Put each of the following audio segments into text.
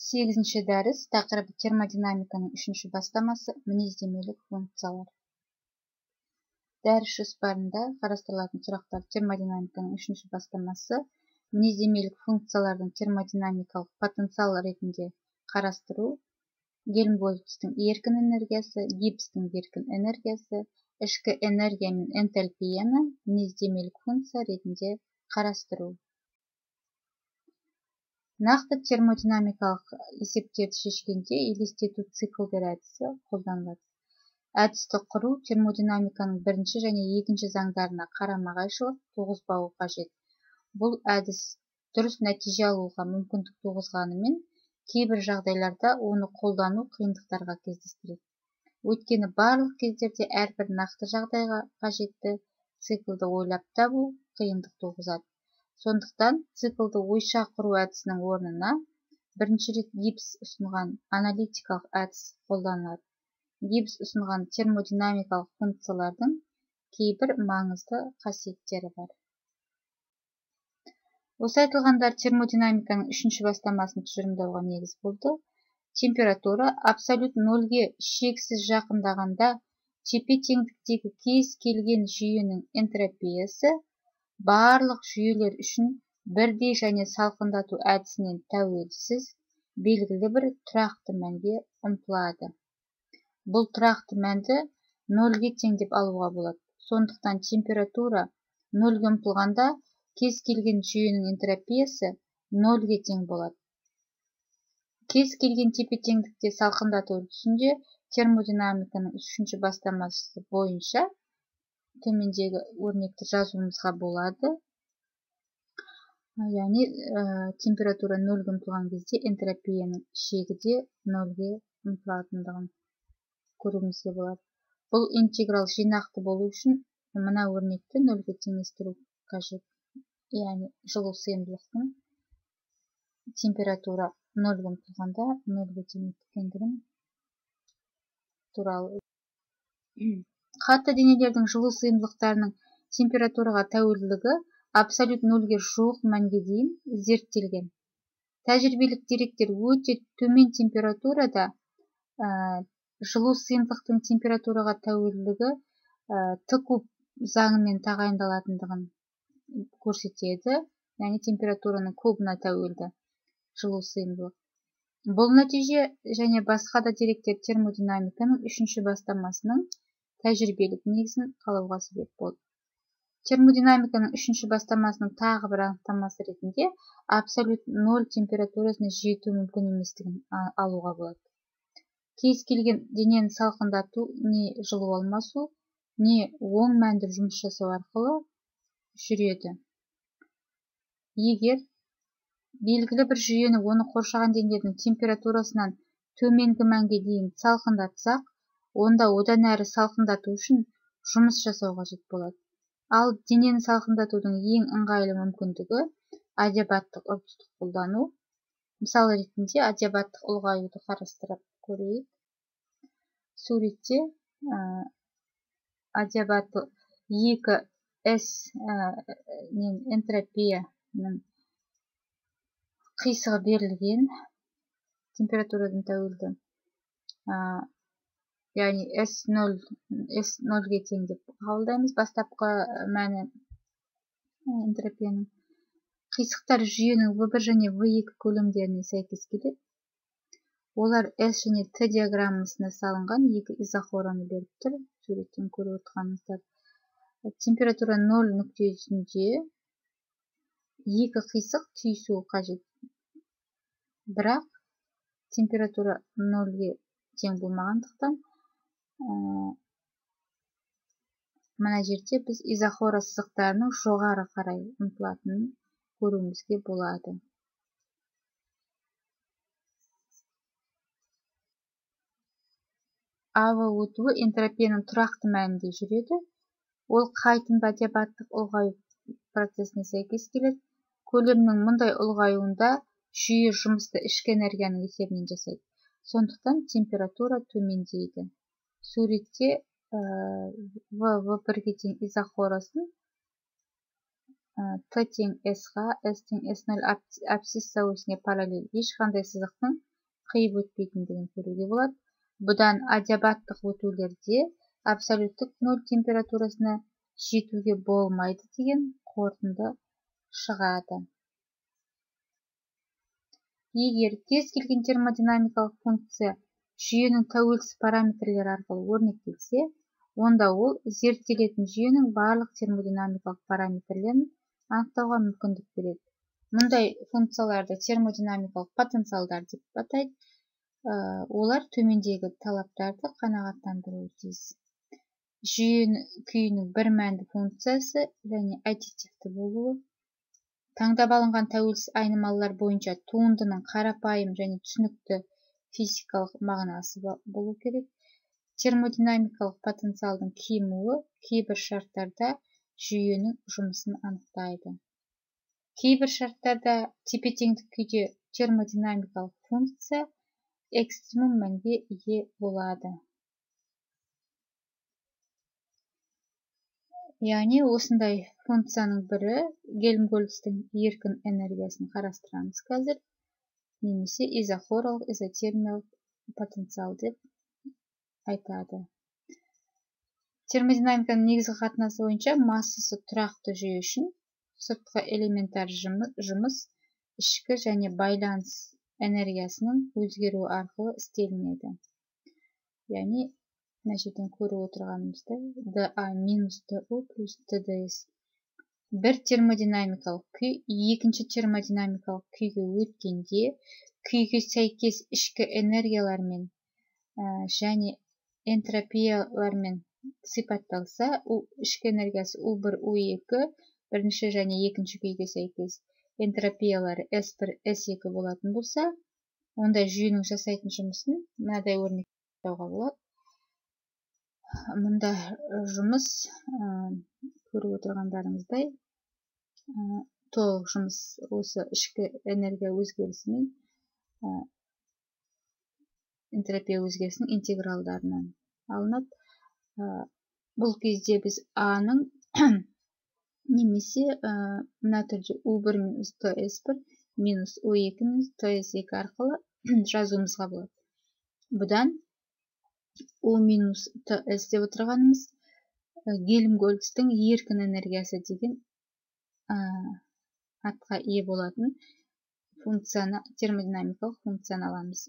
8-ші дәріс тақырыбы термодинамиканың 3-ші бастамасы мінездемелік функциялар. Дәріс жоспарында қарастырылатын сұрақтар термодинамиканың 3-ші бастамасы мінездемелік функциялардың термодинамикалық потенциал ретінде қарастыру, Гельмгольцтің еркін энергиясы, Гибстің еркін энергиясы, ішкі энергия мен энтальпияны мінездемелік функция ретінде қарастыру. Нақты термодинамикалық есептерді шешкенде елестету циклдер әдісі қолданылады. Әдісті құру термодинамиканың бірінші және екінші заңдарына қарама-қайшылық туғызбауы қажет. Бұл әдіс дұрыс нәтиже алуға мүмкіндік туғызғанымен, кейбір жағдайларда оны қолдану қиындықтарға кездестіреді. Өйткені барлық кездерде әрбір нақты жағдайға қажетті циклды ойлап табу қиындық туғызады. Сондықтан циклды ойша құру әдісінің орнына бірінші рет Гибс ұсынған аналитикалық әдіс қолданылады. Гибс ұсынған термодинамикалық функциялардың кейбір маңызды қасиеттері бар. Осы айтылғандар термодинамиканың 3-ші бастамасын тұжырымдауға негіз болды. Температура абсолют нөлге шексіз жақындағанда тепе-теңдіктегі кез келген жүйенің энтропиясы барлық жүйелер үшін бірдей және салқындату әдісінен тәуелсіз белгілі бір тұрақты мәнге ұмтылады. Бұл тұрақты мәнді нөлге тең деп алуға болады. Сондықтан температура нөлге ұмтылғанда кез келген жүйенің энтропиясы нөлге тең болады. Кез келген тепе-теңдікте салқындату үрдісінде термодинамиканың 3-ші бастамасы бойынша төмендегі өрнекті жазуымызға болады. Яғни температура нөлге ұмтылған кезде энтропияның шегі де нөлге ұмтылатындығын көруімізге болады. Бұл интеграл жинақты болу үшін мына өрнекті нөлге теңестіру қажет. Яғни жылу сыйымдылықтың температура нөлге ұмтылғанда нөлге тең екендігін туралы. Қатты денелердің жылу сыйымдылықтарының температураға тәуелділігі абсолют нөлге жуық мәнге дейін зерттелген. Тәжірибелік деректер өте төмен температурада жылу сыйымдылықтың температураға тәуелділігі Т куб заңымен тағайындалатындығын көрсетеді. Яғни температураның кубына тәуелді жылу сыйымдылық. Бұл нәтиже және басқа да деректер термодинамиканың 3-ші бастамасының тәжірибелік негізін қалауға себеп болды. Термодинамиканың 3-ші бастамасының тағы бір анықтамасы ретінде абсолют нөл температурасына жету мүмкін еместігін алуға болады. Кез келген денені салқындату не жылу алмасу, не оң мәнді жұмыс жасау арқылы жүреді. Егер белгілі бір жүйені оны қоршаған денелердің температурасынан төменгі мәнге дейін салқындатсақ, онда одан әрі салқындату үшін жұмыс жасау қажет болады. Ал денені салқындатудың ең ыңғайлы мүмкіндігі адиабаттық үрдісті қолдану. Мысалы ретінде адиабаттық ұлғаюды қарастырып көрейік. Суретте адиабаттық 2S энтропияның қисығы берілген температурадан тәуелді. Яғни S0-ге тең деп қабылдаймыз. Бастапқы мәні энтропияның. Қисықтар жүйенің V1 және V2 көлемдеріне сәйкес келеді. Олар S және T диаграммасына салынған екі изохораны беріп тұр. Суреттен көріп отырғаныңыздар. Температура 0 нүктесінде екі қисық түйісуі қажет. Бірақ температура 0-ге тең болмағандықтан мына жерде біз изохора сызықтарының жоғары қарай ұмтылатынын көруімізге болады. АВ өтуі энтропияның тұрақты мәнінде жүреді. Ол қайтымды адиабаттық ұлғаю процесіне сәйкес келеді. Көлемнің мұндай ұлғаюында жүйе жұмысты ішкі энергияның есебінен жасайды. Сондықтан температура төмендейді. Суретте V1-ге тең изохорасын Т тең S-ға, S тең S0 абсцисса осіне параллель ешқандай сызықтың қиып өтпейтіндігін көруге болады. Бұдан адиабаттық өтулерде абсолюттік нөл температурасына жетуге болмайды деген қорытынды шығады. Егер кез келген термодинамикалық функция жүйенің тәуелсіз параметрлері арқылы өрнектелсе, онда ол зерттелетін жүйенің барлық термодинамикалық параметрлерін анықтауға мүмкіндік береді. Мұндай функцияларды термодинамикалық потенциалдар деп атайды. Олар төмендегі талаптарды қанағаттандыруы тиіс. Жүйе күйінің бір мәнді функциясы және аддитивті болуы, таңдап алынған тәуелсіз айнымалылар бойынша туындының қарапайым және түсінікті физикалық мағынасы болу керек. Термодинамикалық потенциалдың кемуі кейбір шарттарда жүйенің жұмысын анықтайды. Кейбір шарттарда тепе-теңдік күйде термодинамикалық функция экстремум мәнге ие болады. Яғни осындай функцияның бірі Гельмгольцтің еркін энергиясын қарастырамыз қазір, немесе изохорлық, изотермиялық потенциал деп айтады. Термодинамиканың негізгі қатынасы бойынша массасы тұрақты жүйе үшін сыртқы элементар жұмыс ішкі және байланыс энергиясының өзгеруі арқылы істелінеді. Яғни, мына жерден көріп отырғанымызда dA минус dU плюс dDs. Бір термодинамикалық күй екінші термодинамикалық күйге өткенде күйге сәйкес ішкі энергиялармен және энтропиялармен сипатталса, ішкі энергиясы U1, U2 бірінші және екінші күйге сәйкес энтропиялары S1, S2 болатын болса, онда жүйенің жасайтын жұмысын мынадай өрнектеуге болады. Мұнда жұмыс көріп отырғандарыңыздай толық жұмыс осы ішкі энергия өзгерісімен энтропия өзгерісінің интегралдарынан алынады. Бұл кезде біз А-ның немесе мына түрде U1 минус TS1 минус U2 минус TS2 арқылы жазуымызға болады. Бұдан U минус TS деп отырғанымыз Гельмгольцтің еркін энергиясы деген атқа ие болатын функцияны, термодинамикалық функцияны аламыз.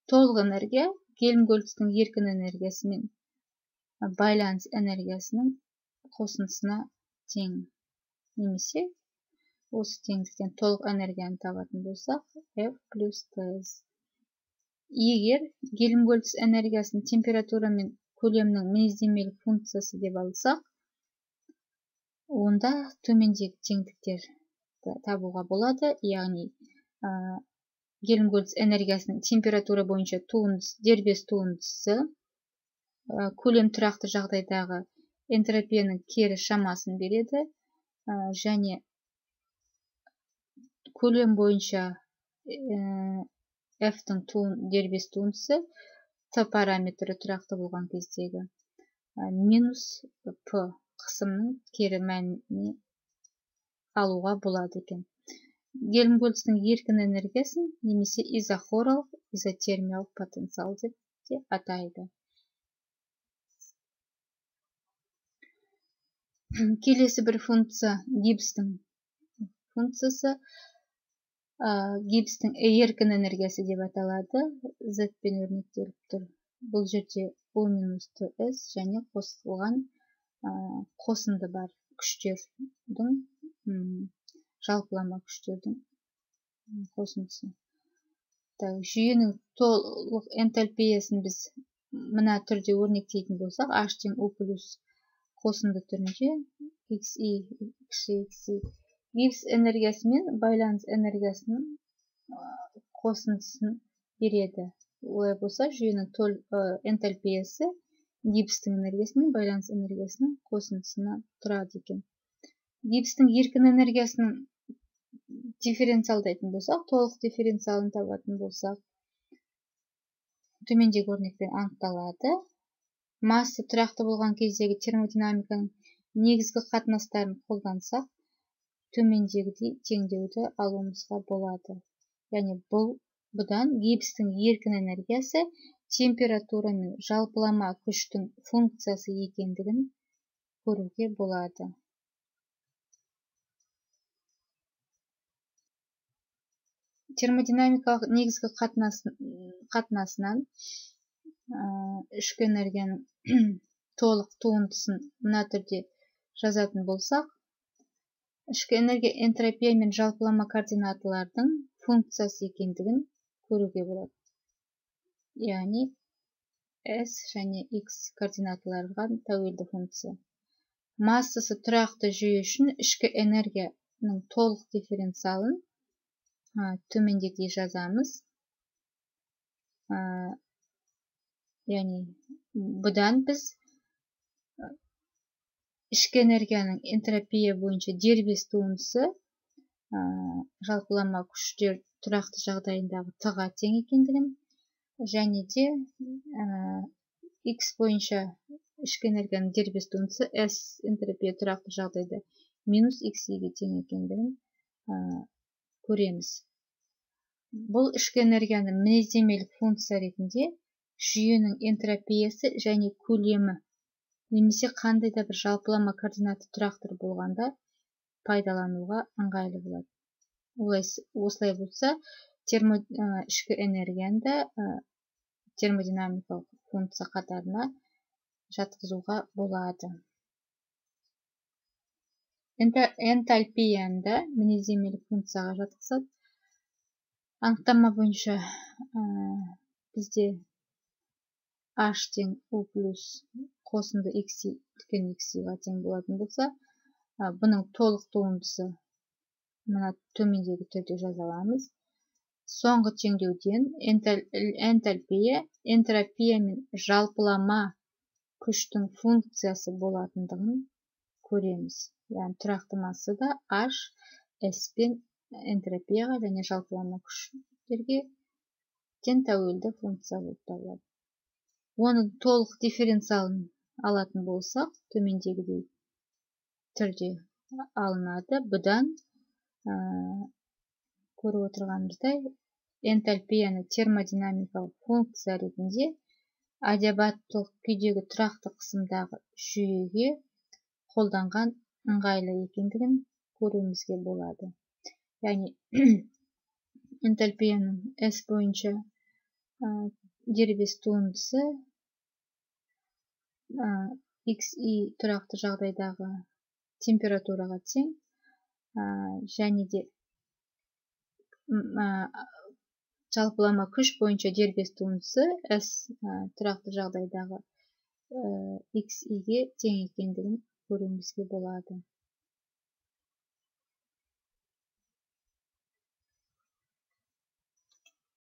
Толық энергия Гельмгольцтің еркін энергиясы мен байланыс энергиясының қосындысына тең. Немесе осы теңдіктен толық энергияны табатын болсақ, F плюс TS. Егер Гельмгольц энергиясын температура мен көлемнің мінездемелік функциясы деп алсақ, онда төмендегі теңдіктер табуға болады. Яғни, Гельмгольц энергиясының температура бойынша дербес туындысы көлем тұрақты жағдайдағы энтропияның кері шамасын береді, және көлем бойынша F-тің дербес туындысы Т параметрі тұрақты болған кездегі минус P қысымның кері мәніне алуға болады екен. Гельмгольцтің еркін энергиясын немесе изохорлық, изотермиялық потенциал деп атайды. Келесі бір функция Гибстің функциясы. Гибстің еркін энергиясы деп аталады. Z-пен өрнектеліп тұр. Бұл жерде U минус TS және қосылған қосынды бар күштердің, жалпылама күштердің қосындысы. Жүйенің толық энтальпиясын біз мына түрде өрнектейтін болсақ, H тең U плюс қосынды түрінде XI, XI. Гибс энергиясы мен байланыс энергиясының қосындысын береді. Олай болса, жүйенің энтальпиясы гибстің энергиясы мен байланыс энергиясының қосындысына тұрады екен. Гибстің еркін энергиясының дифференциалдайтын болсақ, толық дифференциалын табатын болсақ, төмендегі өрнекпен анықталады. Масса тұрақты болған кездегі термодинамиканың негізгі қатынастарын қолдансақ, төмендегідей теңдеуді алуымызға болады. Яғни бұл Бұдан гипстің еркін энергиясы температура мен жалпылама күштің функциясы екендігін көруге болады. Термодинамикалық негізгі қатынасынан ішкі энергияның толық туындысын мына түрде жазатын болсақ, ішкі энергия энтропия мен жалпылама координаталардың функциясы екендігін көруге болады. Яғни S және X координаталарға тәуелді функция. Массасы тұрақты жүйе үшін ішкі энергияның толық дифференциалын төмендегідей жазамыз. Яғни бұдан біз ішкі энергияның энтропия бойынша дербес туындысы жалпылама күштер тұрақты жағдайындағы Т-ға тең екендігін, және де X бойынша ішкі энергияның дербес туындысы S энтропия тұрақты жағдайда минус XY-ге тең екендігін көреміз. Бұл ішкі энергияны мінездемелік функция ретінде жүйенің энтропиясы және көлемі немесе қандай да бір жалпылама координаты тұрақтыр болғанда пайдалануға ыңғайлы болады. Осылай болса, ішкі энергияны да термодинамикалық функция қатарына жатқызуға болады. Энтальпияны да мінездемелік функцияға жатқызады. Анықтама бойынша бізде H тең U плюс қосынды XY үлкен XY-ға тең болатын болса, бұның толық туындысы мына төмендегі түрде жазаламыз. Соңғы теңдеуден энтальпия, энтропия мен жалпылама күштің функциясы болатындығын көреміз. Яғни тұрақты массада H, S пен энтропияға және жалпылама күштерге тең тәуелді функция болып табылады. Оның толық дифференциалын алатын болсақ, төмендегідей түрде алынады. Бұдан көріп отырғанымыздай, энтальпияны термодинамикалық функция ретінде адиабаттылық күйдегі тұрақты қысымдағы жүйеге қолданған ыңғайлы екендігін көруімізге болады. Яғни энтальпияның S бойынша дербес туындысы XY тұрақты жағдайдағы температураға тең, және де жалпылама күш бойынша дербес туындысы S тұрақты жағдайдағы XY-ге тең екендігін көруімізге болады.